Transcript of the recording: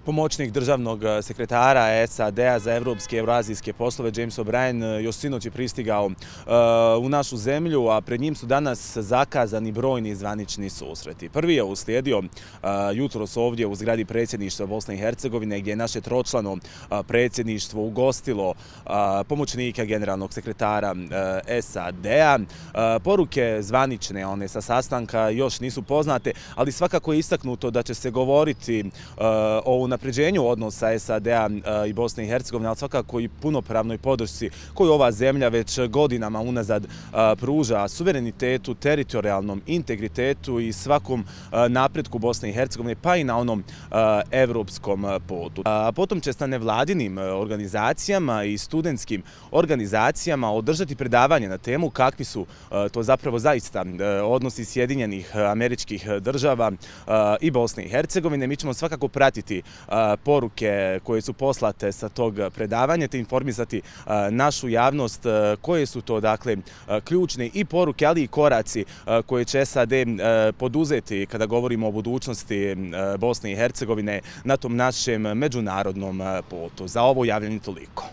Pomoćnik državnog sekretara SAD-a za evropske i evroazijske poslove James O'Brien još sinoć je pristigao u našu zemlju, a pred njim su danas zakazani brojni zvanični susreti. Prvi je uslijedio jutros ovdje u zgradi predsjedništva Bosne i Hercegovine, gdje je naše tročlano predsjedništvo ugostilo pomoćnika generalnog sekretara SAD-a. Poruke zvanične, one sa sastanka, još nisu poznate, ali svakako je istaknuto da će se govoriti o unapređenju odnosa SAD-a i Bosne i Hercegovine, ali svakako i punopravnoj podršci koju ova zemlja već godinama unazad pruža suverenitetu, teritorijalnom integritetu i svakom napretku Bosne i Hercegovine, pa i na onom evropskom putu. Potom će sa nevladinim organizacijama i studentskim organizacijama održati predavanje na temu kakvi su to zapravo zaista odnosi Sjedinjenih Američkih Država i Bosne i Hercegovine. Mi ćemo svakako pratiti poruke koje su poslate sa tog predavanja te informisati našu javnost koje su to, dakle, ključne i poruke, ali i koraci koje će SAD poduzeti kada govorimo o budućnosti Bosne i Hercegovine na tom našem međunarodnom putu. Za ovo javljanje toliko.